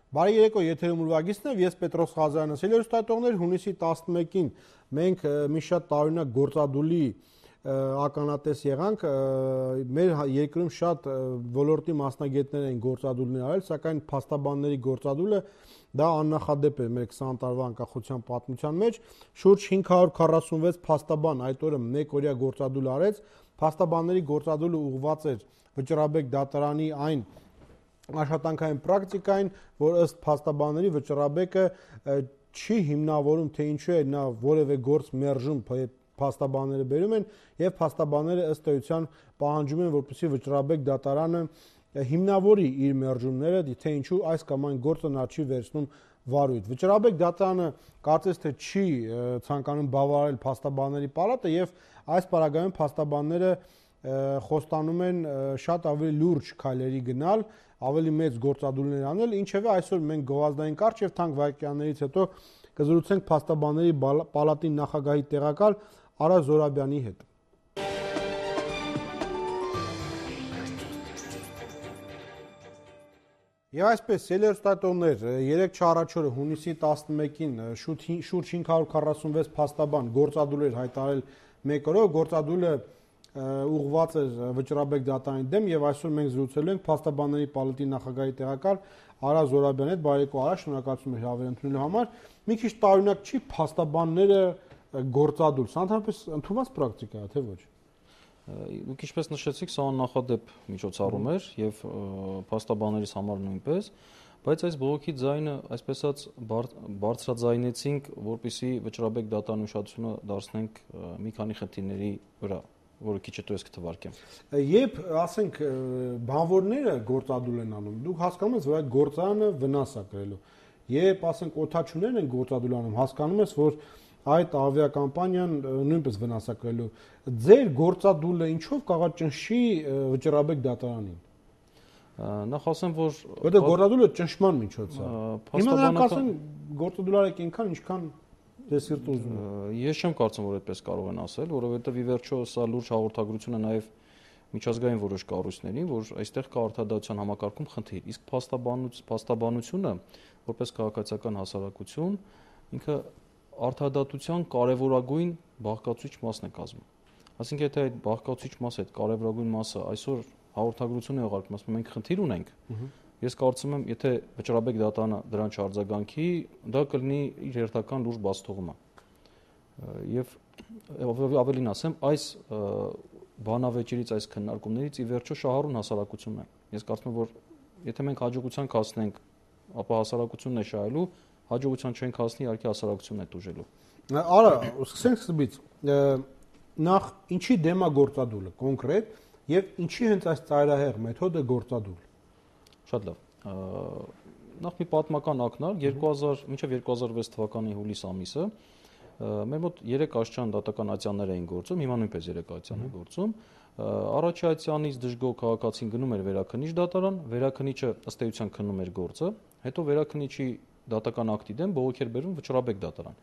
Բարի երեկո, եթերում ուրվագիծն է, ես Պետրոս Ղազարյանը, սելերուստատողներ, հունիսի 11-ին մենք մի շատ տարօրինակ գործադուլի ականատես եղանք, մեր երկրում շատ ոլորտի մասնագետներ են գործադուլներ արել, սակայն փաստաբանների գործադուլը դա աննախադեպ է մեր 20 տարվա անկախության պատմության մեջ, շուրջ 546 փաստաբան այդ օրը մեկ օրյա գործադուլ արեց, փաստաբանների գործադուլը ուղղված էր Վճռաբեկ դատարանի այն աշխատանքային պրակտիկային, որ ըստ փաստաբանների Վճռաբեկը չի հիմնավորում, թե ինչու է նա որևէ գործ մերժում, փաստաբանները բերում են եւ փաստաբանները ըստ էության պահանջում են, որպեսզի Վճռաբեկ դատարանը հիմնավորի իր մերժումները, թե ինչու այս կամ այն գործը նա չի վերցնում վարույթ։ Վճռաբեկ դատարանը կարծես թե չի ցանկանում բավարարել փաստաբանների պալատը եւ այս պարագայում փաստաբանները խոստանում են շատ ավելի լուրջ քայլերի գնալ, ավելի մեծ գործադուլներ անել, ինչևէ այսօր մենք գովազդային կարճ եւ թանկ վայրկյաններից հետո կզրուցենք փաստաբանների պալատի նախագահի տեղակալ Արա Զորաբյանի հետ։ Եվ այսպես, սելերուստատողներ, 3 չառաջորը հունիսի 11-ին շուրջ 546 փաստաբան գործադուլեր հայտարարել մեկ օրով, գործադուլը ուղղված էր Վճռաբեկ դատարանի դեմ եւ այսօր մենք զրուցելու ենք փաստաբանների պալատի նախագահի տեղակալ Արա Զորաբյանի հետ։ Բարեկո Արա, շնորհակալություն հրավեր ընդունելու համար։ Մի քիչ տարօրինակ չի փաստաբանները գործադուլ, սա ընդհանրապես ընդունված պրակտիկա է, թե ոչ։ Դուք ինչպես նշեցիք, սա աննախադեպ միջոցառում էր եւ փաստաբաններից համար նույնպես, բայց այս բողոքի ձայնը, այսպես ասած, բարձրաձայնեցինք, որպեսզի Վճռաբեկ դատարանի ուշադրությունը դարձնենք մի քանի խնդիրների վրա, որը քիչ հետո ես կթվարկեմ։ Երբ, ասենք, բանվորները գործադուլ են անում, դուք հասկանում եք, որ այդ գործարանը վնաս է կրելու։ Երբ, ասենք, օդաչուներն են գործադուլ անում, հասկանում ես, որ այդ ավիակամպանիան նույնպես վնաս է կրելու։ Ձեր գործադուլը ինչով կարող ճնշի Վճռաբեկ դատարանին։ Նախ ասեմ, որ որտեղ գործադուլը ճնշման միջոց է։ Հիմա նրանք ասեն գործադուլ արեք այնքան, ինչքան դե սիրտը ուզում է։ Ես չեմ կարծում, որ այդպես կարող են ասել, որովհետև ի վերջո սա լուրջ հաղորդագրություն է նաև միջազգային որոշ կառույցներին, որ այստեղ կա արդարադատության համակարգում խնդիր։ Իսկ փաստաբանությունը, որպես քաղաքացիական հասարակություն, ինքը արդարադատության կարևորագույն բաղկացուցիչ մասն է կազմում։ Այսինքն, եթե այդ բաղկացուցիչ մասը, այդ կարևորագույն մասը այսօր հաղորդագրություն է ուղարկում, ասում մենք խնդիր ունենք, ես կարծում եմ, եթե Վճռաբեկ դատարանը դրան չարձագանքի, դա կլինի իր հերթական լուրջ բացթողումը։ Եվ ավելին ասեմ, այս բանավեճերից, այս քննարկումներից ի վերջո շահառուն հասարակությունն է։ Ես կարծում եմ, որ եթե մենք հաջողության հասնենք, ապա հասարակությունն է շահելու, հաջողության չենք հասնի, իհարկե հասարակությունն է տուժելու։ Արա, սկսենք սկզբից։ Նախ ինչի դեմ է գործադուլը կոնկրետ եւ ինչի հենց այս ծայրահեղ մեթոդը գործադուլ։ Շատ լավ։ Նախ մի պատմական ակնարկ 2000 մինչև 2006 թվականի հուլիս ամիսը մեր մոտ 3 աշճան դատական ատյաններ էին գործում, հիմա նույնպես 3 ատյան է գործում։ Առաջի ատյանից դժգոհ քաղաքացին գնում էր վերաքննիչ դատարան, վերաքննիչը ըստ էության քննում էր գործը, հետո վերաքննիչի դատական ակտի դեմ բողոք էր բերում Վճռաբեկ դատարան։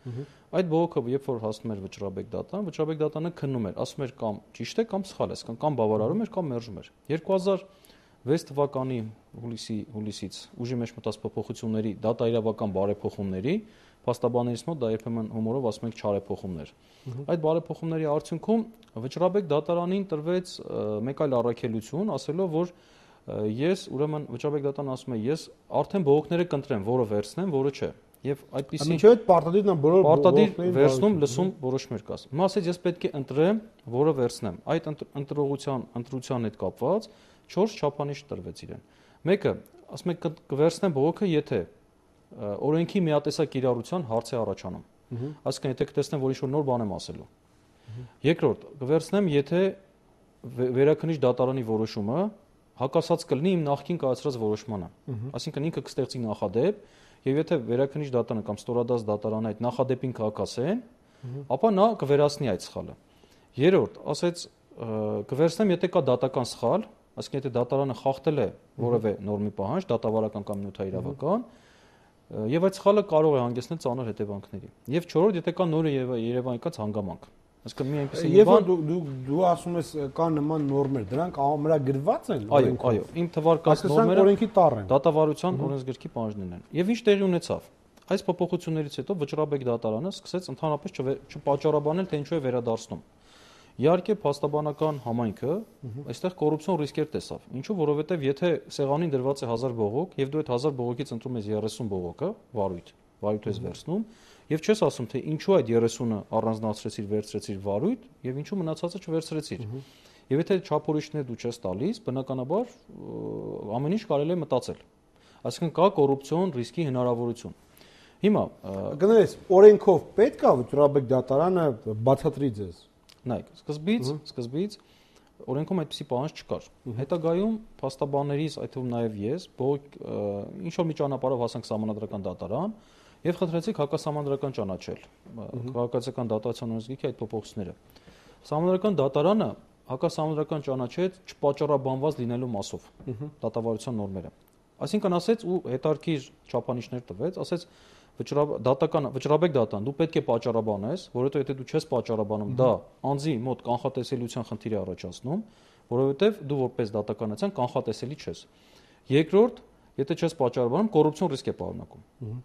Այդ բողոքը երբ որ հասնում էր Վճռաբեկ դատարան, Վճռաբեկ դատարանը քննում էր, ասում էր կամ ճիշտ է, կամ սխալ է, կամ բավարարում էր, կամ մերժում էր։ 2006 թվականի հուլիսից ուժի մեջ մտած փոփոխությունների, դատաիրավական բարեփոխումների, փաստաբաններից մոտ դա երբեմն հումորով ասում ենք չարեփոխումներ։ Այդ բարեփոխումների արդյունքում Վճռաբեկ դատարանին տրվեց մեկ այլ առաքելություն, ասելով, որ ես ուրեմն Վճռաբեկ դատարանը ասում է, ես արդեն բողոքները կընտրեմ, որը վերցնեմ, որը չէ։ Եվ այդպիսի Մինչև այդ պարտադիրն է բոլոր բողոքներին վերցնում, լսում որոշումներ կաս։ Հիմա ասեց, ես պետք է ընտրեմ, որը վերցնեմ։ Այդ ընտրության հետ կապված 4 չափանիշ տրվեց իրեն։ Մեկը, ասում է, կվերցնեմ բողոքը, եթե օրենքի միատեսակ կիրառության հարց է առաջանում։ Այսինքն, եթե կտեսնեմ, որ ինչ-որ նոր բան եմ ասելու։ Երկրորդ, կվերցնեմ, եթե վերաքննիչ դատարանի որոշումը հակասած կլինի իմ նախկին կայացրած որոշմանը։ Այսինքն ինքը կստեղծի նախադեպ, եւ եթե վերաքննիչ դատարանը կամ ստորադաս դատարանը այդ նախադեպին կհակասեն, ապա նա կվերացնի այդ սխալը։ Երրորդ, ասեց, կվերցնեմ, եթե կա դատական սխալ, այսինքն եթե դատարանը խախտել է որևէ նորմի պահանջ, դատավարական կամ նյութաիրավական, եւ այդ սխալը կարող է հանգեցնել ծանր հետևանքների։ Եվ չորրորդ, եթե կա նոր երևակայած հանգամանք։ Այսինքն մի այնպեսի Երբ որ դու ասում ես կան նման նորմեր, դրանք ամրագրված են օրենքով։ Այո, իմ թվարկած նորմերը օրենքի տառ են։ Դատավարության օրենսգրքի պահանջներն են։ Եվ ինչ տեղի ունեցավ։ Այս փոփոխություններից հետո Վճռաբեկ դատարանը սկսեց ընդհանրապես չպատճառաբանել, թե ինչու է վերադարձնում։ Իհարկե, փաստաբանական համայնքը այստեղ կոռուպցիոն ռիսկեր տեսավ։ Ինչու, որովհետև եթե սեղանին դրված է 1000 բողոք, եւ դու այդ 1000 բողոքից ընտրում ես 30 բողոքը, վարույթ ես վերցնում, եւ չես ասում, թե ինչու այդ 30-ը առանձնացրեցիր, վերցրեցիր վարույթ, եւ ինչու մնացածը չվերցրեցիր։ Եվ եթե չափորոշիչներ դու չես տալիս, բնականաբար ամեն ինչ կարելի է մտածել։ Այսինքն կա կոռուպցիոն ռիսկի հնարավորություն։ Հիմա կներես, օրենքով պետք է Վճռաբեկ դատարանը բացատրի ձեզ։ Նայեք, սկզբից օրենքում այդպիսի պահանջ չկար։ Հետագայում փաստաբաններից, այդ թվում նաև ես, ինչ որ մի ճանապարհով հասանք սահմանադրական դատարան եւ խնդրեցիք հակասահմանադրական ճանաչել քաղաքացիական դատացիոն օրենսգրքի այդ փոփոխությունները։ Սահմանադրական դատարանը հակասահմանադրական ճանաչեց չպատճառաբանված լինելու մասով դատավարության նորմերը։ Այսինքն ասեց ու հետարքիր չափանիշներ տվեց, ասեց Վճռաբեկ դատան, դու պետք է պատճառաբանես, որովհետեւ եթե դու չես պատճառաբանում, դա անձի մոտ կանխատեսելիության խնդիր է առաջացնում, որովհետեւ դու որպես դատականացիան կանխատեսելի չես։ Երկրորդ, եթե չես պատճառաբանում, կոռուպցիոն ռիսկ է պարունակում։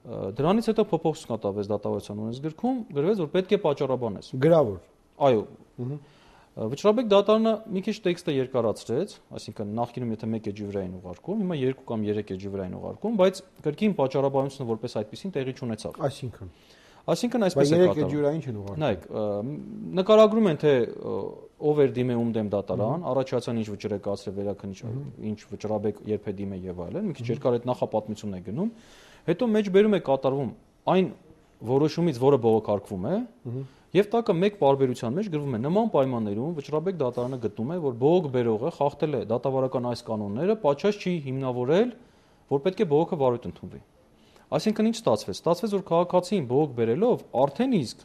Դրանից հետո փոփոխություն կատարվեց դատավարության օրենսգրքում, գրվեց, որ պետք է պատճառաբանես։ Գրավոր։ Այո։ Վճռաբեկ դատարանը մի քիչ տեքստը երկարացրեց, այսինքն նախկինում եթե 1 էջի վրա էին ուղարկում, հիմա 2 կամ 3 էջի վրա են ուղարկում, բայց կրկին պատճառաբանությունը որպես այդպեսին տեղի չունեցավ։ Այսինքն այսպես է կատարվում։ 3 էջի վրա ինչ են ուղարկում։ Նայեք, նկարագրում են թե ով էր դիմե ում դեմ դատարան, առաջացան ինչ վճռ է կացրել վերաքննիչ, ինչ Վճռաբեկ երբ է դիմե եւ այլն, մի քիչ երկար այդ նախապատմությունն է գնում, հետո մեջբերում է կատարվում այն որոշումից, որը բողոքարկվում է, եւ տակը մեկ պարբերության մեջ գրվում է նման պայմաններում Վճռաբեկ դատարանը գտնում է, որ բողոք բերողը խախտել է դատավարական այս կանոնները, պատշաճ չի հիմնավորել, որ պետք է բողոքը վարույթ ընդունվի։ Այսինքն ինչ ստացվեց։ Ստացվեց, որ քաղաքացին բողոք բերելով արդեն իսկ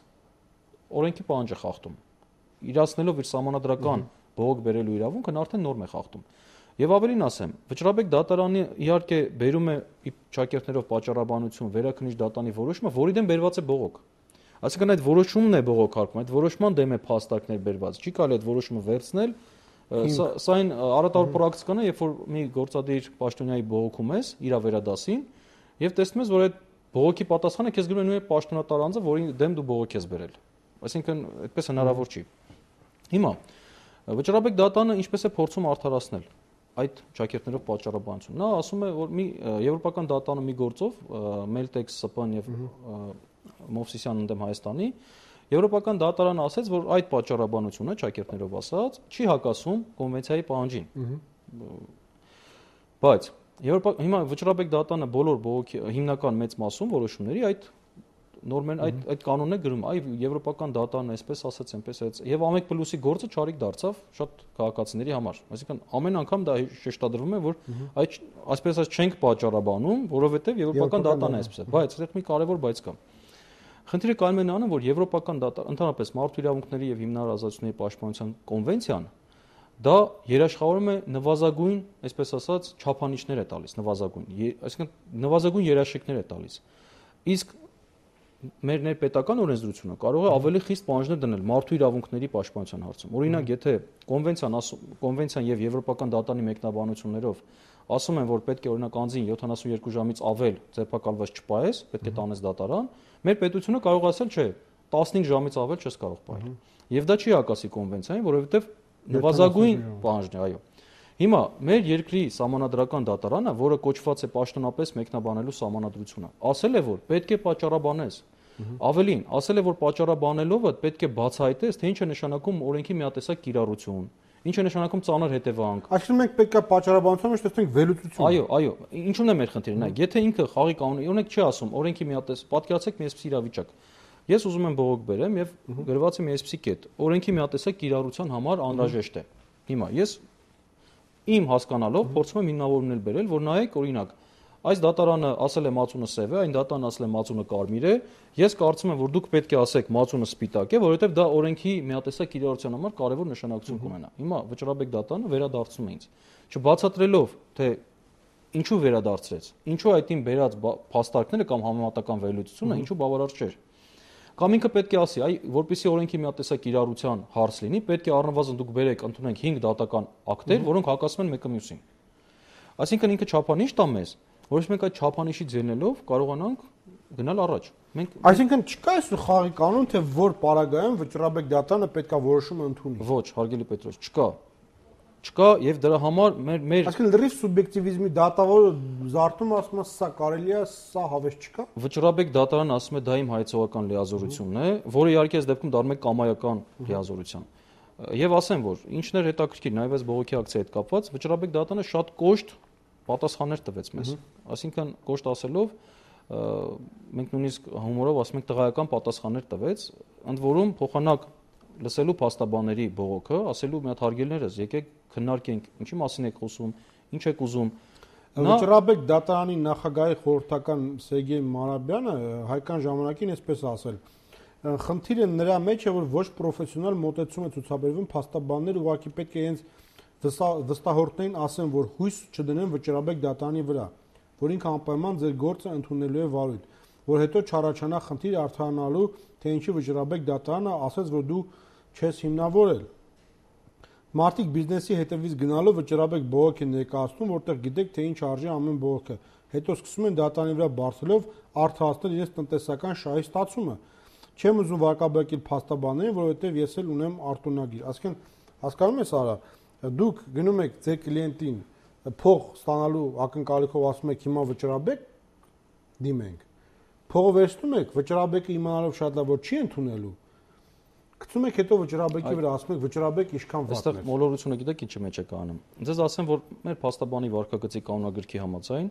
օրենքի պահանջ է խախտում։ Իրացնելով իր սահմանադրական բողոք բերելու իրավունքն արդեն նորմ է խախտում։ Եվ ավելին ասեմ, Վճռաբեկ դատարանը իհարկե բերում է ճակերտներով պատճառաբանություն վերաքննիչ դատանի որոշումը, որի դեմ բերված է բողոք։ Այսինքն այդ որոշումն է բողոքարկում, այդ որոշման դեմ է փաստարկներ բերված։ Չի կարելի այդ որոշումը վերցնել, սա այն առատավոր պրակտիկան է, երբ որ մի գործադիր պաշտոնյայի բողոքում ես իր վերադասին, եւ տեսնում ես, որ այդ բողոքի պատասխանը քեզ գրում է նույն պաշտոնատար անձը, որի դեմ դու բողոք ես բերել։ Այսինքն այդպես հնարավոր չի։ Հիմա Վճռաբեկ դատարանը ինչպես է փորձում արդարացնել այդ ճակերտներով պատճառաբանություն։ Նա ասում է, որ մի եվրոպական դատարանը մի գործով Meltex, ՍՊ-ն եւ Մովսիսյանն ընդդեմ Հայաստանի եվրոպական դատարանը ասաց, որ այդ պատճառաբանությունը ճակերտներով ասած չի հակասում կոնվենցիայի պահանջին։ Բայց հիմա Վճռաբեկ դատարանը բոլոր բողոքի հիմնական մեծ մասում որոշումների այդ նորմեն այդ կանոնն է գրում, այ եվրոպական դատարանը այսպես ասաց, այնպես այս եւ ամեկ պլյուսի գործը չարիք դարձավ շատ քաղաքացիների համար։ Այսինքն ամեն անգամ դա շեշտադրվում է, որ այդ այսպես ասած չենք պատճառաբանում, որովհետեւ եվրոպական դատարանը այսպես է, բայց այդտեղ մի կարևոր բայց կա։ Խնդիրը կայանում է նրանում, որ եվրոպական ընդհանրապես մարդու իրավունքների եւ հիմնարար ազատությունների պաշտպանության կոնվենցիան դա երաշխավորում է նվազագույն, այսպես ասած, չափանիշներ է տալիս, այսինքն նվազագույն երաշխիքներ է տալիս։ Իսկ մեր ներպետական օրենսդրությունը կարող է ավելի խիստ պահանջներ դնել մարդու իրավունքների պաշտպանության հարցում։ Օրինակ, եթե կոնվենցիան եւ եվրոպական դատարանի մեկնաբանություններով ասում են, որ պետք է օրինակ անձին 72 ժամից ավել ձերբակալված չպահես, պետք է տանես դատարան, մեր պետությունը կարող ասել, չէ, 15 ժամից ավել չես կարող պահել։ Եվ դա չի հակասի կոնվենցիային, որովհետեւ նվազագույն պահանջն է, այո։ Հիմա մեր երկրի սահմանադրական դատարանը, որը կոչված է պաշտոնապես մեկնաբանելու սահմանադրությունը, ասել է, որ պետք է պատճառաբանես։ Ավելին, ասել է, որ պատճառաբանելով պետք է բացահայտես, թե ինչ է նշանակում օրենքի միատեսակ կիրառություն, ինչ է նշանակում ծանր հետևանք։ Այսինքն մենք պետք է պատճառաբանության մեջ տեսնենք վերլուծություն։ Այո, ինչու՞ն է մեր խնդիրը։ Նայեք, եթե ինքը խաղի կանոնը, օրինակ չի ասում, օրենքի միատես, պատկերացեք մի այսպիսի իրավիճակ։ Ես ուզում եմ բողոք բերեմ եւ գրված է մի այսպիսի կետ։ Օրենքի միատեսակ կիրառության համար անհրաժեշտ է։ Հիմա ես իմ հասկանալով փորձում եմ հիմնավորումներ բերել, որ նայեք, օրինակ, այս դատարանը ասել է մածունը սև է, այն դատարանը ասել է մածունը կարմիր է, ես կարծում եմ, որ դուք պետք է ասեք մածունը սպիտակ է, որովհետև դա օրենքի միատեսակ կիրառության համար կարևոր նշանակություն կունենա։ Հիմա Վճռաբեկ դատարանը վերադարձնում է ինձ, չբացատրելով, թե ինչու վերադարձրեց, ինչու այդ իմ բերած փաստարկները կամ համեմատական վերլուծությունը ինչու բավարար չէր։ Կամ ինքը պետք է ասի, այ որպեսզի օրենքի մի հատ տեսակ կիրառության հարց լինի, պետք է առնվազն դուք բերեք, ընդունենք 5 դատական ակտեր, որոնք հակասում են մեկը մյուսին։ Այսինքն ինքը չափանիշ տա մեզ, որից մենք այդ չափանիշից ելնելով կարողանանք գնալ առաջ։ Այսինքն չկա այս խաղի կանոն, թե որ պարագայում վճռաբեկ դատանը պետք է որոշումը ընդունի։ Ոչ, հարգելի Պետրոս, չկա եւ դրա համար մեր Այսինքն լրիվ սուբյեկտիվիզմի դատավորը զարթում ասում է սա կարելի է, սա հավես չկա։ Վճռաբեկ դատարանը ասում է դա իմ հայցողական լիազորությունն է, որը իհարկե այս դեպքում դառնում է կամայական լիազորության։ Եվ ասեմ, որ ինչն էր հետաքրքիր, նաեւ այս բողոքի ակցիայի հետ կապված, վճռաբեկ դատարանը շատ կոշտ պատասխաններ տվեց մեզ։ Այսինքն կոշտ ասելով մենք նույնիսկ հումորով ասում ենք տղայական պատասխաններ տվեց, ընդ որում փոխանակ լսելու փաստաբանների բողոքը, ասելու մի հատ հարգելներս, եկեք քննարկենք, ինչի մասին եք խոսում, ինչ եք ուզում։ Վճռաբեկ դատարանի նախագահի խորհրդական Սերգեյ Մարաբյանը հայկական ժամանակին այսպես ասել. խնդիրը նրա մեջ է, որ ոչ պրոֆեսիոնալ մոտեցում է ցուցաբերվում, փաստաբանները ուղղակի պետք է իրենց վստահորդներին ասեն, որ հույս չդնեն վճռաբեկ դատարանի վրա, որ ինքը անպայման ձեր գործը ընդունելու է վարույթ, որ հետո չառաջանա խնդիր արդարանալու, թե ինչի վճռաբեկ դատարանը ասեց, որ դու չես հիմնավորել։ Մարդիկ բիզնեսի հետևից գնալով վճռաբեկ բողոք են ներկայացնում, որտեղ գիտեք, թե ինչ արժի ամեն բողոքը։ Հետո սկսում են դատարանի վրա բարձրելով արդարացնել իրենց տնտեսական շահի ստացումը։ Չեմ ուզում վարկաբեկել փաստաբաններին, որովհետև ես էլ ունեմ արտոնագիր։ Այսինքն, հասկանում ես, Արա, դուք գնում եք ձեր կլիենտին փող ստանալու ակնկալիքով ասում եք հիմա վճռաբեկ դիմենք։ Փողը վերցնում եք, վճռաբեկը իմանալով շատ լավ որ չի ընդունելու։ Գցում եք հետո վճռաբեկի վրա, ասում եք վճռաբեկ ինչքան վատն է։ Այստեղ մոլորությունը գիտեք ինչի մեջ է կանում։ Ձեզ ասեմ, որ մեր փաստաբանի վարկագծի կանոնագրքի համաձայն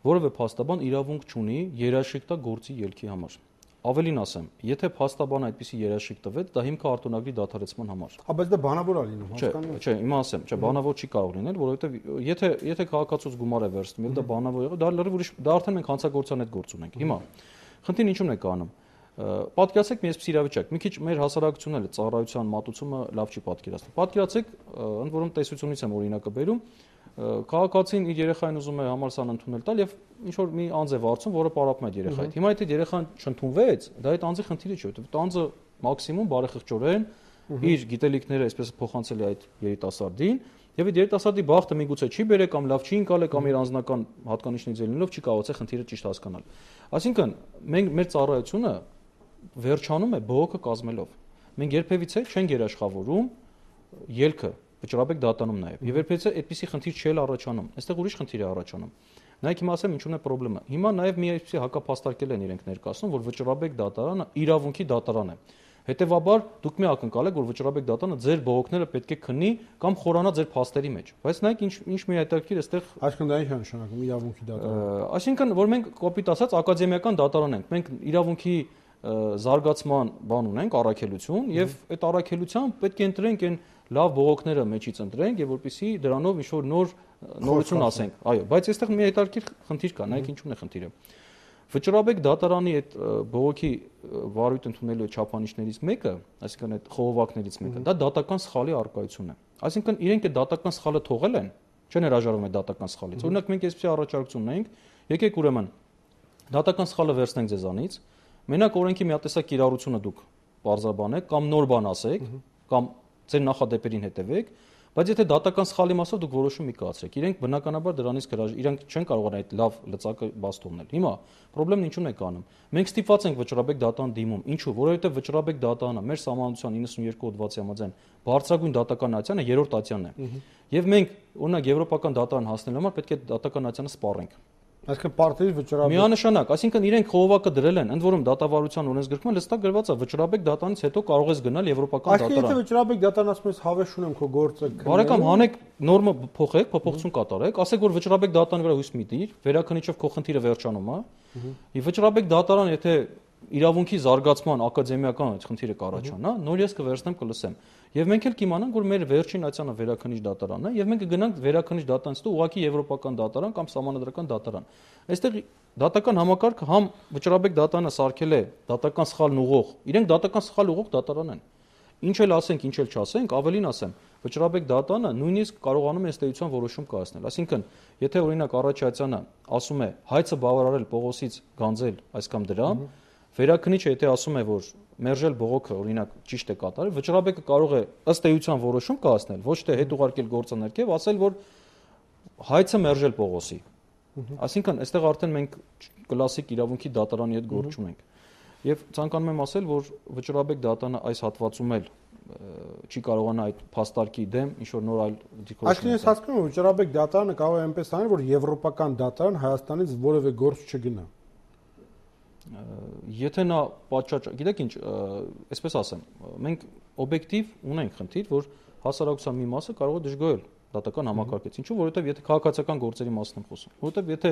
որևէ փաստաբան իրավունք չունի երաշխիք տա գործի ելքի համար։ Ավելին ասեմ, եթե փաստաբանը այդպիսի երաշխիք տվեց, դա հիմք է արտոնագրի դադարեցման համար։ Բայց դա բանավոր է լինում, հասկանում եք։ Չէ, հիմա ասեմ, չէ, բանավոր չի կարող լինել, որովհետև եթե քաղաքացուց գումար է վերցնում, եւ դա բանավոր եղավ, դա լրիվ ուրիշ, դա արդեն մենք հանցագործության հետ գործ ունենք։ Հիմա խնդիրն ինչու՞մն է կանում։ Պատկերացեք մի այսպիսի իրավիճակ, մի քիչ մեր հասարակությունն էլ ծառայության մատուցումը լավ չի պատկերացնում։ Պատկերացեք, ընդ որում տեսությունից եմ օրինակը բերում, քաղաքացին իր երեխային ուզում է համալսարան ընդունել տալ եւ ինչ որ մի անձ է վարձում, որը պարապում է այդ երեխային։ Հիմա եթե երեխան չընդունվեց, դա այդ անձի խնդիրը չէ, որովհետեւ անձը մաքսիմում բարեխղճորեն իր գիտելիքները այսպես փոխանցել է այդ երիտասարդին եւ այդ երիտասարդի բախտը միգուցե չի բերե կամ լավ չի ընկալե կամ իր անձնական հատկանիշներից ելնելով չի կարողացել խնդիրը ճիշտ հասկանալ։ Այսինքն մենք մեր ծառայությունը վերջանում է բողոքը կազմելով։ Մենք երբևիցե չենք երաշխավորում ելքը վճռաբեկ դատանում նաև։ Եվ երբևիցե այդպիսի խնդիր չի առաջանում։ Այստեղ ուրիշ խնդիր է առաջանում։ Նայեք հիմա ասեմ ինչու՞ն է խնդրեմը։ Հիմա նաև մի այսպիսի հակապաստարկել են իրենք ներկայացնում, որ վճռաբեկ դատարանը իրավունքի դատարան է։ Հետևաբար դուք մի ակնկալեք, որ վճռաբեկ դատարանը ձեր բողոքները պետք է քննի կամ խորանա ձեր փաստերի մեջ։ Բայց նայեք ինչ մի հետաքրքիր այստեղ։ Այսինքն դա ինչ է նշանակում իրավունքի դատարան։ Այսինքն որ մենք կոպիտ ասած ակադեմիական դատարան ենք։ Մենք իրավունքի զարգացման բան ունենք, առաքելություն, եւ այդ առաքելությամբ պետք է ընտրենք այն լավ բողոքները մեջից ընտրենք եւ որպեսզի դրանով ինչ որ նորություն ասենք։ Այո, բայց այստեղ մի հետաքրքիր խնդիր կա, նայեք ինչու՞ն է խնդիրը։ Վճռաբեկ դատարանի այդ բողոքի վարույթ ընդունելու չափանիշներից մեկը, այսինքն այդ խողովակներից մեկը, դա դատական սխալի առկայությունն է։ Այսինքն իրենք այդ դատական սխալը թողել են, չեն հրաժարվում այդ դատական սխալից։ Օրինակ մենք այսպեսի առաջարկություն ունենք, եկեք ուրեմն դատական սխալը վերցնենք ձեզանից, մենակ օրենքի մի հատ տեսակ կիրառությունը դուք բարձրաբանեք կամ նոր բան ասեք, կամ ձեր նախադեպերին հետևեք, բայց եթե դատական սխալի մասով դուք որոշում մի կայացրեք, իրենք բնականաբար դրանից իրենք չեն կարողանա այդ լավ լծակը բաց թողնել։ Հիմա խնդրեմն ինչու՞ն է կանում։ Մենք ստիպված ենք վճռաբեկ դատարան դիմում։ Ինչու՞, որովհետև վճռաբեկ դատարանը մեր սահմանության 92 հոդվածի համաձայն բարձրագույն դատական ատյանը երրորդ ատյանն է։ Եվ մենք օրինակ եվրոպական դատարան հասնելու համար պետք է դատական ատյանը սպառենք։ Այսինքն պարտադիր վճռաբեկ։ Միանշանակ, այսինքն իրենք խողովակը դրել են, ընդ որում դատավարության օրենսգրքում լստակ գրված է վճռաբեկ դատարանից հետո կարող ես գնալ եվրոպական դատարան։ Այսինքն եթե վճռաբեկ դատարան ասում ես հավես ունեմ քո գործը։ Բարեկամ, հանեք նորմը փոխեք, փոփոխություն կատարեք, ասեք որ վճռաբեկ դատարանի վրա հույս մի դիր, վերաքննիչով քո խնդիրը վերջանում է։ Եվ վճռաբեկ դատարան եթե իրավունքի զարգացման ակադեմիական խնդիրը կառաջանա, նոր ես կվերցնեմ կլսեմ։ Եվ մենք էլ կիմանանք, որ մեր վերջին ատյանը վերաքննիչ դատարանն է, եւ մենք կգնանք վերաքննիչ դատարանից հետո ուղղակի եվրոպական դատարան կամ սահմանադրական դատարան։ Այստեղ դատական համակարգը համ վճռաբեկ դատարանը սարքել է դատական սխալն ուղղող, իրենք դատական սխալ ուղղող դատարան են։ Ինչ էլ ասենք, ինչ էլ չասենք, ավելին ասեմ, վճռաբեկ դատարանը նույնիսկ կարողանում է ըստեյության որոշում կայացնել։ Այսինքն, եթե օրինակ առաջացյանը ասում է հայցը բավարարել Պողոսից գանձել այս կամ դրամ, Վերաքնիչը եթե ասում է, որ մերժել բողոքը օրինակ ճիշտ է կատարել, վճռաբեկը կարող է ըստ էության որոշում կայացնել, ոչ թե հետ ուղարկել գործը ներքև, ասել, որ հայցը մերժել Պողոսի։ Այսինքն, այստեղ արդեն մենք կլասիկ իրավունքի դատարանի հետ գործ ունենք։ Եվ ցանկանում եմ ասել, որ վճռաբեկ դատանը այս հատվածում էլ չի կարողանա այդ փաստարկի դեմ ինչ որ նոր այլ դիրքորոշում։ Այսինքն ես հասկանում եմ, վճռաբեկ դատարանը կարող է այնպես անել, որ եվրոպական դատարան Հայաստանից որևէ գործ չգնա։ Եթե նա պատշաճ, գիտեք ինչ, այսպես ասեմ, մենք օբյեկտիվ ունենք խնդիր, որ հասարակության մի մասը կարող է դժգոհել դատական համակարգից։ Ինչու՞, որովհետև եթե քաղաքացիական գործերի մասին եմ խոսում, որովհետև եթե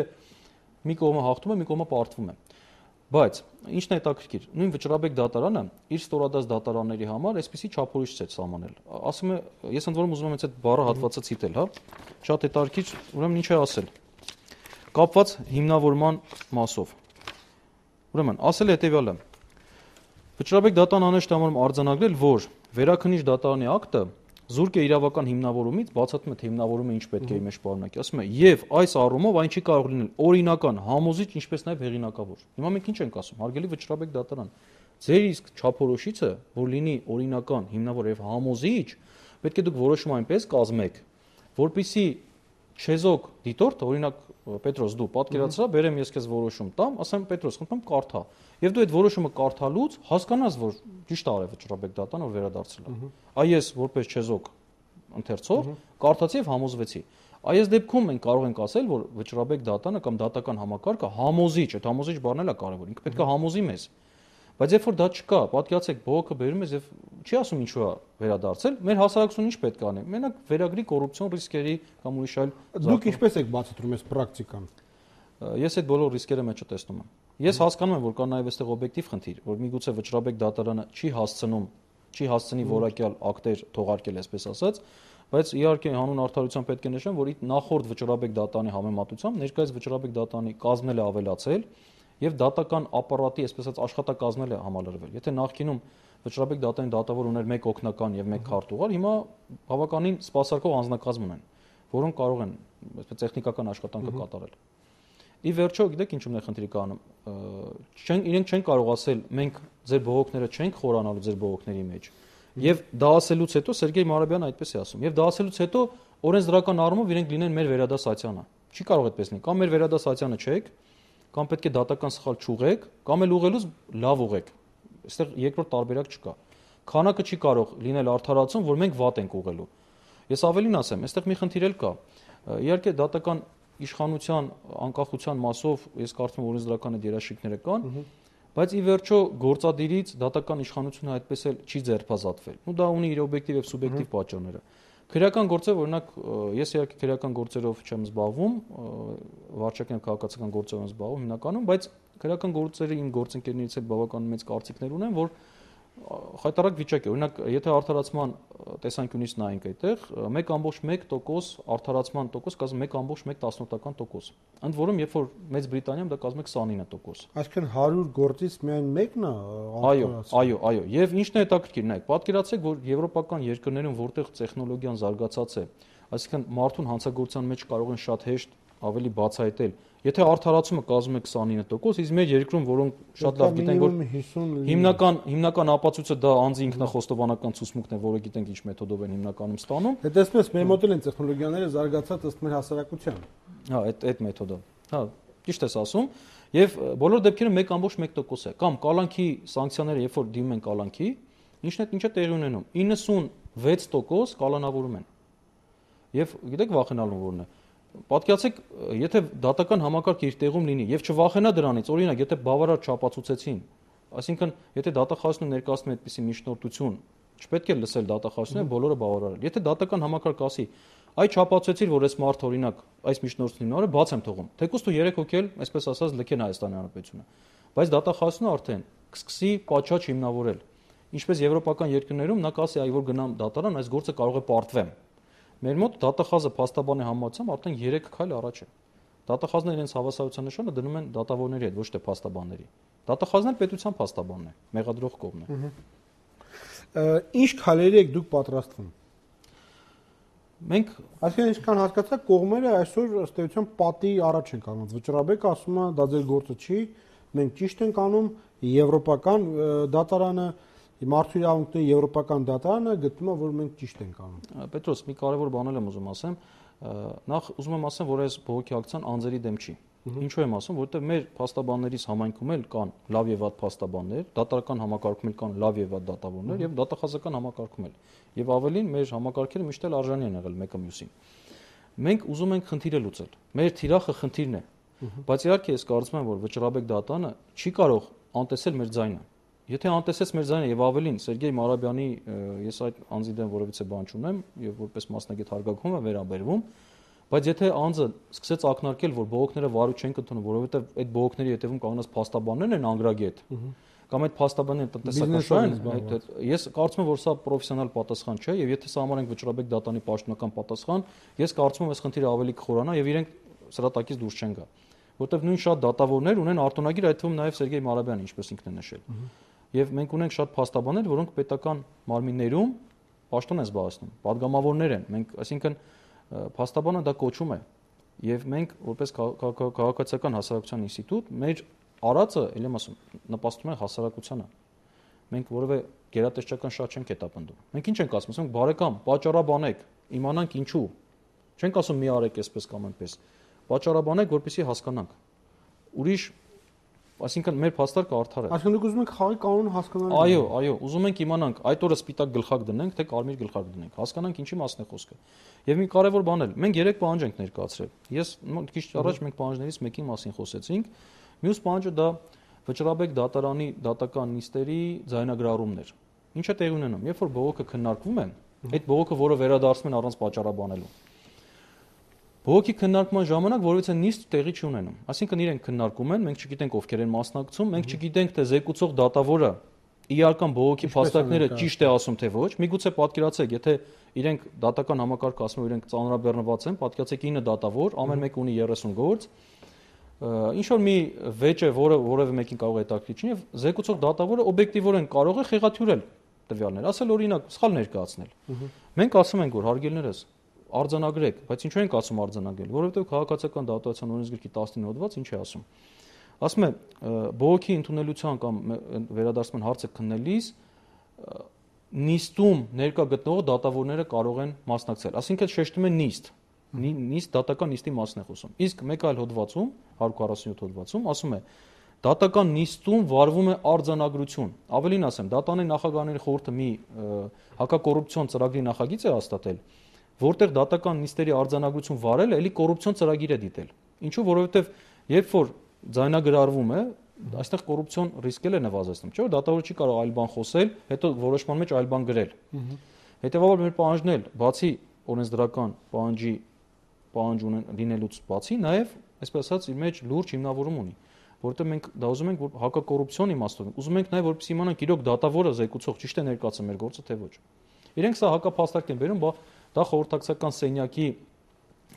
մի կողմը հաղթում է, մի կողմը պարտվում է։ Բայց ինչն է հետաքրքիր, նույն վճռաբեկ դատարանը իր ստորադաս դատարանների համար այսպիսի չափորոշիչ է սահմանել։ Ասում է, ես ընդ որում ուզում եմ այդ բառը հատվածը ցիտել, հա։ Շատ հետաքրքիր, ուրեմն ինչ է ասել։ Կապված հիմնավորման մասով։ Ուրեմն, ասել է հետևյալը. Վճռաբեկ դատարանը անհեշտ արձանագրել, որ վերաքննիչ դատարանի ակտը զուրկ է իրավական հիմնավորումից, բացատրում է թե հիմնավորումը ինչ պետք է իր մեջ պարունակի։ Ասում է, եւ այս առումով այն չի կարող լինել օրինական, համոզիչ, ինչպես նաեւ հեղինակավոր։ Հիմա մենք ինչ ենք ասում, հարգելի վճռաբեկ դատարան, ձեր իսկ չափորոշիչը, որ լինի օրինական, հիմնավոր եւ համոզիչ, պետք է դուք որոշում այնպես կազմեք, որպեսզի չեզոք դիտորդ, օրինակ Պետրոս, դու պատկերացրա, բերեմ ես քեզ որոշում տամ, ասեմ Պետրոս, խնդրում կարդա։ Եվ դու այդ որոշումը կարդալուց հասկանաս, որ ճիշտ արել վճռաբեկ դատան, որ վերադարձել է։ Այ ես որպես չեզոք ընթերցող կարդացի եւ համոզվեցի։ Այս դեպքում մենք կարող ենք ասել, որ վճռաբեկ դատանը կամ դատական համակարգը համոզիչ, այդ համոզիչ բառն էլ է կարևոր, ինքը պետք է համոզի մեզ։ Բայց երբ որ դա չկա, պատկերացեք, բողոքը բերում ես եւ չի ասում ինչու է վերադարձել, մեր հասարակությունը ինչ պետք է անի։ Մենակ վերագրի կոռուպցիոն ռիսկերի կամ ուրիշ այլ։ Դուք ինչպես եք բացատրում այս պրակտիկան։ Ես այդ բոլոր ռիսկերը մեջ չտեսնում եմ։ Ես հասկանում եմ, որ կա նաեւ այստեղ օբյեկտիվ խնդիր, որ միգուցե վճռաբեկ դատարանը չի հասցնի որակյալ ակտեր թողարկել, այսպես ասած, բայց իհարկե հանուն արդարության պետք է նշեմ, որ նախորդ վճռաբեկ դատարանի համեմատությամբ ներկայիս վճռաբեկ դատարանի կազմն էլ ավելացել եւ դատական ապարատի, այսպես ասած, աշխատակազմն էլ է համալրվել։ Եթե նախկինում վճռաբեկ դատարանի դատավոր ուներ 1 օգնական եւ 1 քարտուղար, հիմա բավականին սպասարկող անձնակազմ ունեն, որոնք կարող են այսպես տեխնիկական աշխատանքը կատարել։ Ի վերջո, գիտեք ինչու՞մն է խնդիրը կանում։ Իրենք չեն կարող ասել, մենք ձեր բողոքները չենք խորանալու ձեր բողոքների մեջ։ Եվ դա ասելուց հետո Սերգեյ Մարաբյանը այդպես է ասում։ Եվ դա ասելուց հետո օրենսդրական առումով իրենք լինեն մեր վերադասացյանը։ Չի կարող այդպես լինի։ Կամ մեր վերադասացյանը չեք, կամ պետք է դատական սխալ չուղեք, կամ էլ ուղելուց լավ ուղեք։ Այստեղ երկրորդ տարբերակ չկա։ Քանակը չի կարող լինել արդարացում, որ մենք վատ ենք ուղղելու։ Ես ավելին ասեմ, այստեղ մի խնդիր էլ կա։ Իհարկե դատական իշխանության անկախության մասով ես կարծում եմ օրենսդրական այդ երաշխիքները կան, բայց ի վերջո գործադիրից դատական իշխանությունը այդպես էլ չի ձերբազատվել։ Ու դա ունի իր օբյեկտիվ եւ սուբյեկտիվ պատճառները։ Քրեական գործեր, օրինակ, ես իհարկե քրեական գործերով չեմ զբաղվում, վարչական քաղաքացիական գործերով եմ զբաղվում հիմնականում, բայց քրեական գործերի իմ գործընկերներից էլ բավական մեծ կարծիքներ ունեմ, որ խայտարակ վիճակ է։ Օրինակ, եթե արդարացման տեսանկյունից նայենք այդտեղ, 1.1% արդարացման տոկոս կազմում 1.1%։ Ընդ որում, երբ որ Մեծ Բրիտանիայում դա կազմում է 29%։ Այսինքն 100 գործից միայն մեկն է Այո։ Եվ ինչն է հետաքրքիր, նայեք, պատկերացրեք, որ եվրոպական երկրներում, որտեղ տեխնոլոգիան զարգացած է, այսինքն մարդուն հանցագործության մեջ կարող են շատ հեշտ ավելի բացահայտել։ Եթե արդարացումը կազմում է 29%, իսկ մեր երկրում, որոնք շատ լավ գիտենք, որ հիմնական ապացույցը դա անձի ինքնախոստովանական ցուցմունքն է, որը գիտենք ինչ մեթոդով են հիմնականում ստանում։ Դե տեսնես, մեր մոտ են տեխնոլոգիաները զարգացած ըստ մեր հասարակության։ Հա, այդ մեթոդը։ Հա, ճիշտ ես ասում, եւ բոլոր դեպքերում 1.1% է, կամ կալանքի սանկցիաները, երբ որ դիմում են կալանքի, ինչը տեղի ունենում, 96% կալանավորում են։ Եվ գիտեք վախենալու որն է։ Պատկերացեք, եթե դատական համակարգը իր տեղում լինի եւ չվախենա դրանից, օրինակ, եթե բավարար չապացուցեցին, այսինքն, եթե դատախազությունը ներկայացնում է այդպիսի միջնորդություն, չպետք է լսել դատախազությունը, բոլորը բավարարել։ Եթե դատական համակարգը ասի, այ չապացուցեցիր, որ այս մարդը օրինակ այս միջնորդությունն ինը բաց եմ թողում, թեկուզ դու 3 հոգի էլ, այսպես ասած, լքեն Հայաստանի Հանրապետությունը։ Բայց դատախազությունը արդեն կսկսի պատշաճ հիմնավորել։ Ինչպես եվրոպական երկրներում նա կասի, այ որ գնամ դատարան, այս գործը կարող է պարտվեմ։ Մեր մոտ դատախազը փաստաբանի համացությամբ արդեն 3 քայլ առաջ է։ Դատախազները իրենց հավասարության նշանը դնում են դատավորների հետ, ոչ թե փաստաբանների։ Դատախազն էլ պետության փաստաբանն է, մեղադրող կողմն է։ Ինչ քայլերի եք դուք պատրաստվում։ Մենք, այսինքն ինչքան հասկացա, կողմերը այսօր ըստ էության պատի առաջ են կանգնած։ Վճռաբեկը ասում է, դա ձեր գործը չի, մենք ճիշտ ենք անում, Եվրոպական դատարանը, մարդու իրավունքների եվրոպական դատարանը գտնում է, որ մենք ճիշտ ենք անում։ Պետրոս, մի կարևոր բան եմ ուզում ասեմ, նախ ուզում եմ ասեմ, որ այս բողոքի ակցիան անձերի դեմ չի։ Ինչու եմ ասում, որովհետև մեր փաստաբաններից համայնքում էլ կան լավ եւ վատ փաստաբաններ, դատական համակարգում էլ կան լավ եւ վատ դատավորներ եւ դատախազական համակարգում էլ։ Եվ ավելին մեր համակարգերը միշտ էլ արժանի են եղել մեկը մյուսին։ Մենք ուզում ենք խնդիրը լուծել։ Մեր թիրախը խնդիրն է։ Բայց իհարկե ես կարծում եմ, որ Վճռաբեկ դատանը չի կարող անտեսել մեր ձայնը։ Եթե անտեսեց մեր ձայնը եւ ավելին Սերգեյ Մարաբյանի, ես այդ անձի դեմ որևիցե բան չունեմ եւ որպես մասնագետ հարգանքում եմ վերաբերվում, բայց եթե անձը սկսեց ակնարկել, որ բողոքները վարու չեն կընդունում, որովհետեւ այդ բողոքների հետևում կանգնած փաստաբաններն են անգրագետ, կամ այդ փաստաբանները տնտեսական են, ես կարծում եմ, որ սա պրոֆեսիոնալ պատասխան չէ եւ եթե սահմանենք Վճռաբեկ դատանի պաշտոնական պատասխան, ես կարծում եմ, այս խնդիրը ավելի կխորանա եւ իրենք սրատակից դուրս չեն գա, որովհետեւ նույն շատ դատավորներ ունեն արտոնագիր, այդ թվում նաեւ Սերգեյ Մարաբյանը, ինչպես ինքն է նշել։ Եվ մենք ունենք շատ փաստաբաններ, որոնք պետական մարմիններում պաշտոն են զբաղեցնում, падգամավորներ են։ Մենք, այսինքն, փաստաբանը դա կոչում է։ Եվ մենք, որպես քաղաքացիական հասարակության ինստիտուտ, մեր արածը, ել եմ ասում, նպաստում է հասարակությանը։ Մենք որևէ գերատեսչական շատ չենք հետապնդում։ Մենք ինչ ենք ասում, ասենք բարեկամ, պատճառաբանեք, իմանանք ինչու։ Չենք ասում մի արեք այսպես կամ այնպես։ Պատճառաբանեք, որպեսզի հասկանանք։ Ուրիշ, այսինքն մեր փաստարկը արդար է։ Այսինքն դուք ուզում եք խաղի կանոնը հասկանալ։ Այո, ուզում ենք իմանանք, այդ օրը սպիտակ գլխակ դնենք, թե կարմիր գլխակ դնենք, հասկանանք ինչի մասն է խոսքը։ Եվ մի կարևոր բան էլ, մենք 3 պահանջ ենք ներկայացրել։ Ես քիչ առաջ մենք պահանջներից մեկի մասին խոսեցինք։ Մյուս պահանջը դա Վճռաբեկ դատարանի դատական նիստերի ձայնագրառումն էր։ Ինչ է տեղի ունենում, երբ որ բողոքը քննարկվում է, այդ բողոքը, որը վերադարձնում են առանց պատճառաբանելու։ Բողոքի քննարկման ժամանակ որևիցե նիստ տեղի չի ունենում։ Այսինքն իրենք քննարկում են, մենք չգիտենք ովքեր են մասնակցում, մենք չգիտենք թե զեկուցող դատավորը իհարկան բողոքի փաստարկները ճիշտ է ասում թե ոչ։ Միգուցե պատկերացեք, եթե իրենք դատական համակարգը ասում են, իրենք ծանրաբեռնված են, պատկերացեք 9 դատավոր, ամեն մեկը ունի 30 գործ։ Ինչ որ մի վեճ է, որը որևէ մեկին կարող է հետաքրքիր չլինի, եւ զեկուցող դատավորը օբյեկտիվորեն կարող է խեղաթյուրել տվյալներ, ասել օրինակ սխալ ներկայացնել։ Մենք ասում ենք, որ հարգելներս արձանագրեք, բայց ինչու ենք ասում արձանագրել, որովհետեւ քաղաքացիական դատության օրենսգրքի 19 հոդված ինչ է ասում։ Ասում է բողոքի ընդունելության կամ վերադարձման հարցը քննելիս նիստում ներկա գտնվող դատավորները կարող են մասնակցել, այսինքն շեշտում են նիստ դատական նիստի մասն է խոսում։ Իսկ մեկ այլ հոդվածում 147 հոդվածում ասում է դատական նիստում վարվում է արձանագրություն։ Ավելին ասեմ, դատանի նախագահների խորհուրդը մի հակակոռուպցիոն ծրագրի նախագիծ է հաստատել, որտեղ դատական նիստերի արձանագրություն վարելը էլի կոռուպցիոն ծրագիր է դիտել։ Ինչու, որովհետև երբ որ ձայնագրարվում է, այստեղ կոռուպցիոն ռիսկել է նվազեցնում, չէ՞ որ դատավորը չի կարող այլ բան խոսել, հետո որոշման մեջ այլ բան գրել։ Հետևաբար մեր պահանջն էլ բացի օրենսդրական պահանջ լինելուց բացի նաև, այսպես ասած, իր մեջ լուրջ հիմնավորում ունի, որովհետև մենք դա ուզում ենք, որ հակակոռուպցիոն իմաստով, ուզում ենք նաև որպեսզի իմանանք իրոք դատավորը զեկուցող ճիշտ է ներկայացնում մեր գործը թե ոչ։ Իրենք սա հակափաստարկ են բերում, դա խորհրդակցական սենյակի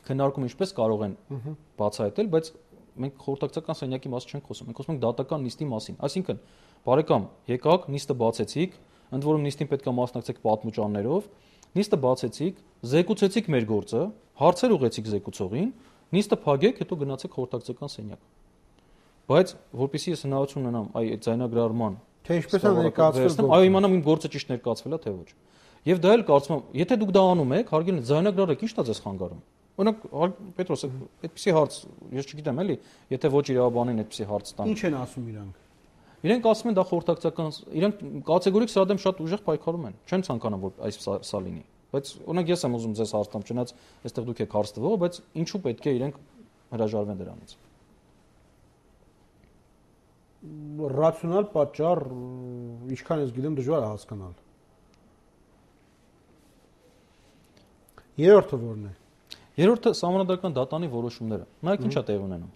քննարկում ինչպես կարող են բացահայտել, բայց մենք խորհրդակցական սենյակի մասին չենք խոսում, մենք խոսում ենք դատական նիստի մասին։ Այսինքն, բարեկամ, եկաք, նիստը բացեցիք, ընդ որում նիստին պետք է մասնակցեք պատմուճաններով, նիստը բացեցիք, զեկուցեցիք մեր գործը, հարցեր ուղեցիք զեկուցողին, նիստը փակեք, հետո գնացեք խորհրդակցական սենյակ։ Բայց որpեսզի ես հնարավորություն ունենամ այդ ձայնագրարման, թե ինչպես է ներկայացվել, այո, իմանամ իմ գործը ճիշտ ներկայացվել է թե ոչ։ Եվ դա էլ կարծում եմ, եթե դուք դա անում եք, հարգելի ձայնագրարեք, ի՞նչն է ձեզ խանգարում։ Օրինակ, Պետրոս, այդպեսի հարց, ես չգիտեմ էլի, եթե ոչ իրավաբանին այդպեսի հարց տան։ Ինչ են ասում իրանք։ Իրենք ասում են դա խորհրդակցական, իրենք կատեգորիկ սրա դեմ շատ ուժեղ պայքարում են, չեն ցանկանում որ այս սա լինի։ Բայց օրինակ ես եմ ուզում ձեզ հարց տամ, չնայած այստեղ դուք եք հարց տվող, բայց ինչու պետք է իրենք հրաժարվեն դրանից։ Ռացիոնալ պատճառ, ինչքան ես գիտեմ, դժվար է հասկանալ։ Երրորդը որն է։ Երրորդը սահմանադրական դատանի որոշումները։ Նայեք ինչ է տեղի ունենում։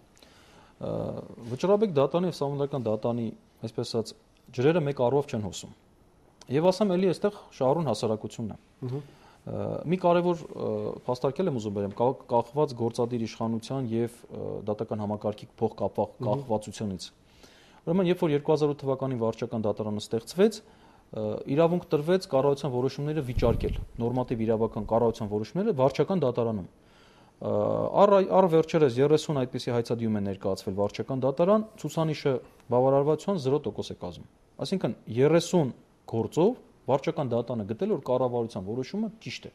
Վճռաբեկ դատանի եւ սահմանադրական դատանի, այսպես ասած, ջրերը մեկ առով չեն հոսում։ Եվ ասեմ, էլի այստեղ շահառուն հասարակությունն է։ Մի կարևոր փաստարկել եմ ուզում բերեմ, կախված գործադիր իշխանության եւ դատական համակարգի փոխկապվածությունից։ Ուրեմն, երբ որ 2008 թվականին վարչական դատարանը ստեղծվեց, իրավունք տրվեց կառավարության որոշումները վիճարկել, նորմատիվ իրավական կառավարության որոշումները վարչական դատարանում։ Առ վերջերս 30 այդպիսի հայցադիում է ներկայացվել վարչական դատարան, ցուցանիշը բավարարվածության 0% է կազմում։ Այսինքն 30 գործով վարչական դատարանը գտել որ կառավարության որոշումը ճիշտ է։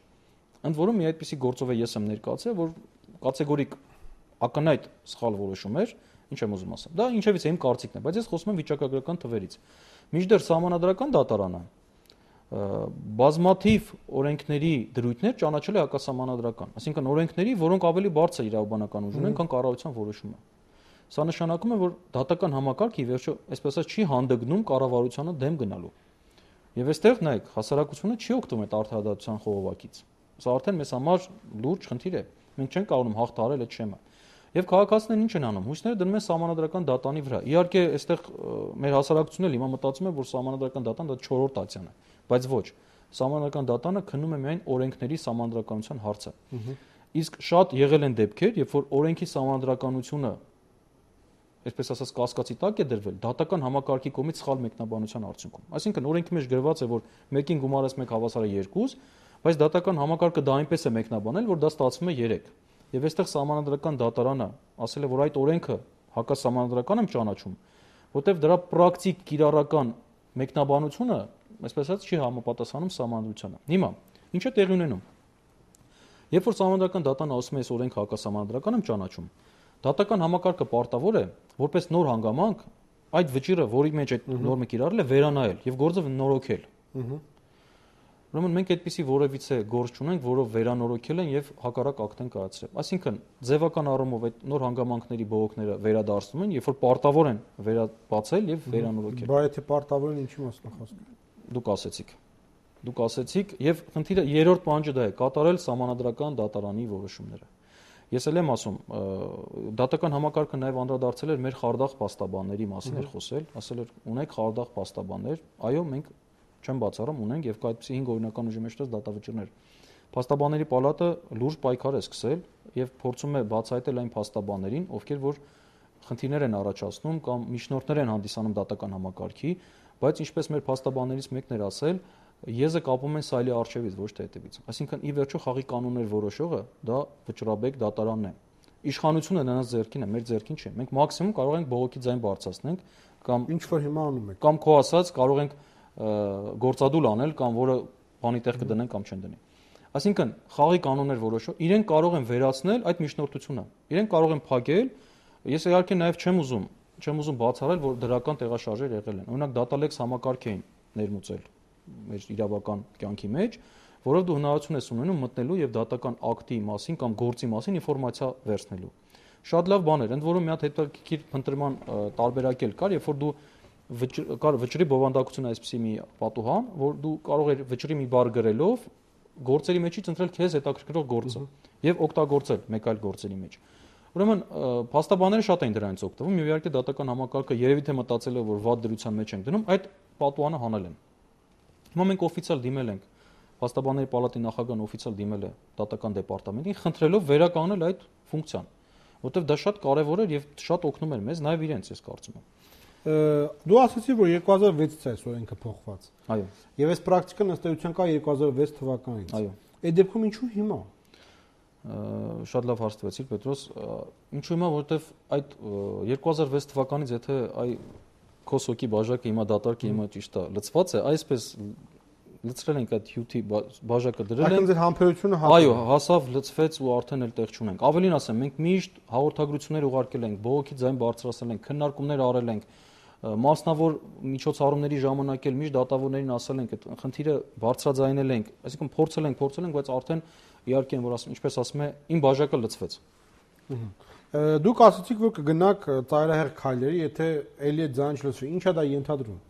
Ընդ որում մի այդպիսի գործով ես եմ ներկայացել, որ կատեգորիկ ակնհայտ սխալ որոշում էր, ինչ եմ ուզում ասեմ։ Դա ինչևից է իմ կարծիքն է, բայց ես խոսում եմ վիճակագրական թվերից։ Մինչդեռ Սահմանադրական դատարանը բազմաթիվ օրենքների դրույթներ ճանաչել է հակասահմանադրական, այսինքն օրենքների, որոնք ավելի բարձր իրավաբանական ուժ ունեն, քան կառավարության որոշումը։ Սա նշանակում է, որ դատական համակարգը ի վերջո, այսպես ասած, չի հանդգնում կառավարությանը դեմ գնալու։ Եվ այստեղ նայեք, հասարակությունը չի օգտվում այդ արդարադատության խողովակից։ Սա արդեն մեզ համար լուրջ խնդիր է։ Մենք չենք կարողանում հաղթահարել այդ շեմը։ Եվ քաղաքացիներն ինչ են անում։ Հույսները դնում են Սահմանադրական դատանի վրա։ Իհարկե, այստեղ մեր հասարակությունն էլ հիմա մտածում է, որ Սահմանադրական դատան դա 4-րդ ատյան է, բայց ոչ։ Սահմանադրական դատանը քննում է միայն օրենքների սահմանադրականության հարցը։ Իսկ շատ եղել են դեպքեր, երբ որ օրենքի սահմանադրականությունը այսպես ասած կասկածի տակ է դրվել դատական համակարգի կողմից սխալ մեկնաբանության արդյունքում։ Այսինքն օրենքի մեջ գրված է, որ մեկին գումարես 1 հավասար է 2, բայց դատական համակարգը դա այնպես է մեկնաբանել, որ դա ստացվում է 3։ Եվ այստեղ Սահմանադրական դատարանը ասել է, որ այդ օրենքը հակասահմանադրական եմ ճանաչում, որտեղ դրա պրակտիկ կիրառական մեկնաբանությունը, այսպես ասած, չի համապատասխանում Սահմանադրությանը։ Հիմա ինչ է տեղի ունենում։ Երբ որ Սահմանադրական դատարանը ասում է, այս օրենքը հակասահմանադրական եմ ճանաչում, դատական համակարգը պարտավոր է, որպես նոր հանգամանք, այդ վճիռը, որի մեջ այդ նորմը կիրառել է, վերանայել եւ գործը նորոգել։ Ուրեմն մենք այդպիսի որևիցե գործ չունենք, որով վերանորոգել են եւ հակառակ ակտ են կայացրել։ Այսինքն ձևական առումով այդ նոր հանգամանքների բողոքները վերադարձնում են, երբ որ պարտավոր են վերաբացել եւ վերանորոգել։ Բայց եթե պարտավոր են, ինչի մասն է խոսքը։ Դուք ասեցիք եւ խնդիրը երրորդ պահանջը դա է՝ կատարել Սահմանադրական դատարանի որոշումները։ Ես էլ եմ ասում, դատական համակարգը նաև անդրադարձել էր մեր խարդախ փաստաբանների մասին էր խոսել, ասել էր ունենք խարդախ փաստաբաններ, այո, մենք չեմ բացառում ունենք եւ կա այդպիսի 5 օրինական ուժի մեջ դատավճիռներ։ Փաստաբանների պալատը լուրջ պայքար է սկսել եւ փորձում է բացահայտել այն փաստաբաններին, ովքեր որ խնդիրներ են առաջացնում կամ միջնորդներ են հանդիսանում դատական համակարգի, բայց ինչպես մեր փաստաբաններից մեկն էր ասել, եզը կապում են սայլի արչեվից, ոչ թե հետևից։ Այսինքն ի վերջո խաղի կանոններ որոշողը դա վճռաբեկ դատարանն է։ Իշխանությունը նրանց ձեռքին է, մեր ձեռքին չէ։ Մենք մաքսիմում կարող ենք բողոքի ձայն բարձրացնենք կամ ինչ որ հիմա անում եք։ Կամ քո ասած կարող ենք գործադուլ անել կամ որը բանի տեղ կդնեն կամ չեն դնի։ Այսինքն խաղի կանոններ որոշող իրենք կարող են վերացնել այդ միջնորդությունը։ Իրենք կարող են փակել։ Ես իհարկե նաև չեմ ուզում բացառել, որ դրական տեղաշարժեր եղել են։ Օրինակ դատալեքս համակարգ էին ներմուծել մեր իրավական կյանքի մեջ, որով դու հնարավորություն ես ունենում մտնելու եւ դատական ակտի մասին կամ գործի մասին ինֆորմացիա վերցնելու։ Շատ լավ բան էր, ընդ որում մի հատ հետաքրքիր փնտրման տարբերակ էլ կար, երբ որ դու կար վճռի բովանդակություն այսպեսի մի պատուհան, որ դու կարող ես վճռի մի բառ գրելով գործերի մեջից ընտրել քեզ հետաքրքրող գործը եւ օգտագործել մեկ այլ գործերի մեջ։ Ուրեմն փաստաբանները շատ են դրանից օգտվում, եւ իհարկե դատական համակարգը երևի թե մտածել է, որ վատ դրության մեջ են դնում, այդ պատուհանը հանել են։ Հիմա մենք օֆիցիալ դիմել ենք, Փաստաբանների պալատի նախագահն օֆիցիալ դիմել է դատական դեպարտամենտին, խնդրելով վերականգնել այդ ֆունկցիան, որտեղ դա շատ կարևոր էր եւ շատ օգնում էր մեզ, նաեւ իրենց, ես կարծում եմ։ Դու ասացի, որ 2006-ից է օրենքը փոխված։ Այո։ Եվ այս պրակտիկան ըստ էության կա 2006 թվականից։ Այո։ Այդ դեպքում ինչու հիմա։ Շատ լավ հարց տվեցիք, Պետրոս։ Ինչու հիմա, որովհետեւ այդ 2006 թվականից եթե այ Քոսոկի բաժակը հիմա դատարկ է, հիմա ճիշտ է, լցված է, այսպես լցրել ենք այդ հյութի բաժակը դրել ենք։ Այդտեղ ձեր համբերությունը Այո, հասավ, լցվեց ու արդեն էլ տեղ չունենք։ Ավելին ասեմ, մենք միշտ հաղորդագրություններ ուղարկել ենք, բողոքի ձայն բարձրացրել ենք, քննարկումներ արել ենք, մասնավոր միջոցառումների ժամանակ էլ միշտ դատավորներին ասել ենք, այդ խնդիրը բարձրաձայնել ենք, այսինքն փորձել ենք, բայց արդեն իհարկե որ ասում, ինչպես ասում է, իմ բաժակը լցվեց։ Դուք ասացիք, որ կգնաք ծայրահեղ քայլերի, եթե ելի այդ ձայն չլցվի, ի՞նչ է դա ենթադրում։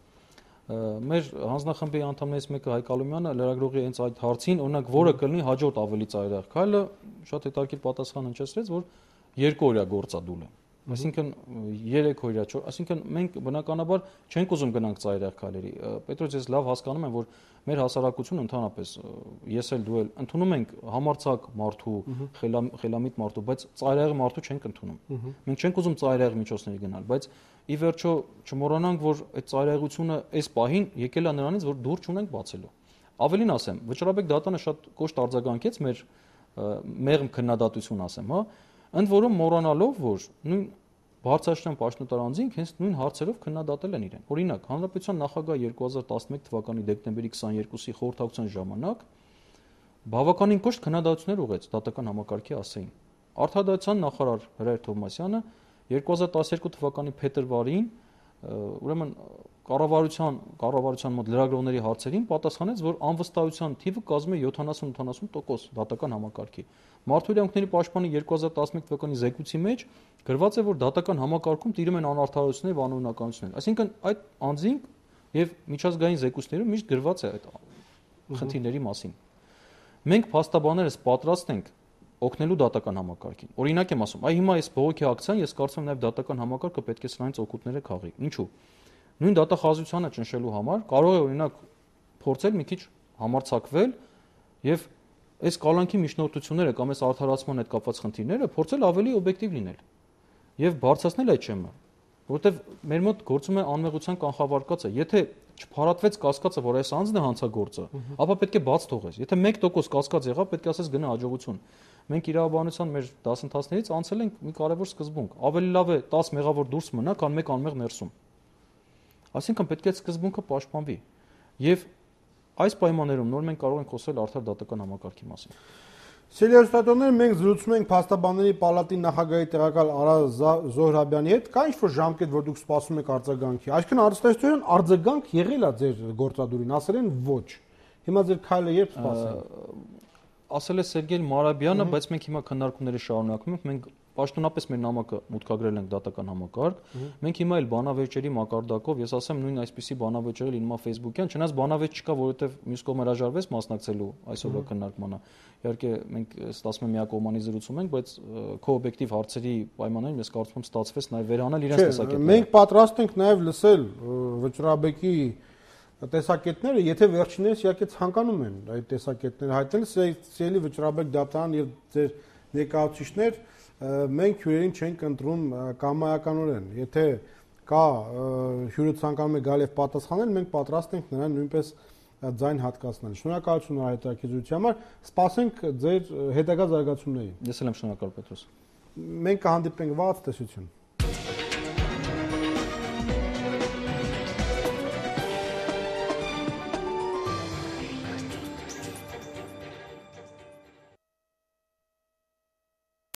Մեր հանձնախմբի անդամներից մեկը Հայկ Ալոմյանը լրագրողի հենց այդ հարցին, օրինակ, որը կլինի հաջորդ ավելի ծայրահեղ քայլը, շատ հետաքրքիր պատասխան հնչեցրեց, որ 2 օրյա գործադուլ է։ Այսինքն 3 օրյա, այսինքն մենք բնականաբար չենք ուզում գնանք ծայրահեղ քայլերի։ Պետրոս, ես լավ հասկանում եմ, որ մեր հասարակությունը ընդհանրապես ես էլ դու էլ ընդունում ենք համարձակ մարդու, խելամիտ մարդու, բայց ծայրահեղ մարդու չենք ընդունում։ Մենք չենք ուզում ծայրահեղ միջոցների գնալ, բայց ի վերջո չմոռանանք, որ այդ ծայրահեղությունը այս պահին եկել է նրանից, որ դուր չունենք բացելու։ Ավելին ասեմ, վճռաբեկ դատանը շատ կոշտ արձագանքեց մեր մեղմ քննադատություն ասեմ, հա, ընդ որում մոռանալով, որ նույն Բարձրաստան պաշտոնատար անձինք հենց նույն հարցերով քննադատել են իրեն։ Օրինակ, Հանրապետության նախագահ 2011 թվականի դեկտեմբերի 22-ի խորհրդակցության ժամանակ բավականին կոշտ քննադատություններ ուղղեց դատական համակարգի ասեին։ Արտադրության նախարար Հրայր Թովմասյանը 2012 թվականի փետրվարին ուրեմն կառավարության մոտ լրագրողների հարցերին պատասխանեց, որ անվստահության թիվը կազմում է 70-80% դատական համակարգի։ Մարդու իրավունքների պաշտպանի 2011 թվականի զեկույցի մեջ գրված է, որ դատական համակարգում տիրում են անարդարություններ եւ անօրինականություններ։ Այսինքն այդ անձինք եւ միջազգային զեկույցներում միշտ գրված է այդ խնդիրների մասին։ Մենք փաստաբաններս պատրաստ ենք օգնելու դատական համակարգին։ Օրինակ եմ ասում, այ հիմա այս բողոքի ակցիան ես կարծում եմ նաև դատական համակարգը պետք է սրանից օգուտները քաղի։ Ինչու՞։ Նույն դատախազությանը ճնշելու համար կարող է օրինակ փորձել մի քիչ համարձակվել եւ այս կալանքի միջնորդությունները կամ այս արդարացման հետ կապված խնդիրները փորձել ավելի օբյեկտիվ լինել եւ բարձրացնել այդ չեմը, որովհետեւ մեր մոտ գործում է անմեղության կանխավարկածը։ Եթե չփարատվեց կասկածը, որ այս անձն է հանցագործը, ապա պետք է բաց թողես։ Եթե 1% կասկած եղավ, պետք է ասես գնա հաջողություն։ Մենք իրավաբանության մեր դասընթացներից անցել ենք մի կարևոր սկզբունք։ Ավելի լավ է 10 մեղավոր դուրս մնա, քան 1 անմեղ ներսում։ Այսինքն պետք է սկզբունքը պաշտպանվի։ Եւ այս պայմաններում նոր մենք կարող ենք խոսել արդար դատական համակարգի մասին։ Սելիոստատոներ, մենք զրուցում ենք փաստաբանների պալատի նախագահի տեղակալ Արա Զոհրաբյանի հետ, կա ինչ-որ ժամկետ, որ դուք սպասում եք արձագանքի։ Այսինքն արծարծության արձագանք եղել է ձեր գործադուրին, ասել են ոչ։ Հիմա ձեր քայլը երբ սպասենք։ Ասել է Սերգեյ Մարաբյանը, բայց մենք հիմա քննարկումները շարունակում ենք, մենք պաշտոնապես մեր նամակը մուտքագրել ենք դատական համակարգ։ Մենք հիմա էլ բանավեճերի մակարդակով, ես ասեմ նույն այսպիսի բանավեճեր լինում է Facebook-յան, չնայած բանավեճ չկա, որովհետև մյուս կողմը հրաժարվեց մասնակցելու այսօրվա քննարկմանը։ Իհարկե մենք ստացվում է միակողմանի զրուցում ենք, բայց քո օբյեկտիվ հարցերի պայմաններում ես կարծում եմ ստացվեց նաև վերանալ իրենց տեսակետները։ Մենք պատրաստ ենք նաև լսել վճռաբեկի տեսակետները, եթե վերջիններս իհարկե ցանկանում են այդ տեսակետները հայտնել, սիրելի վճռաբեկ դատարան եւ ձեր ներկայացուցիչներ, մենք հյուրերին չենք ընտրում կամայականորեն։ Եթե կա հյուրը ցանկանում է գալ եւ պատասխանել, մենք պատրաստ ենք նրան նույնպես ձայն հատկացնել։ Շնորհակալություն հայտարարության համար, սպասենք ձեր հետագա զարգացումներին։ Ես էլ եմ շնորհակալ Պետրոս։ Մենք կհանդիպենք վաղ, տեսություն։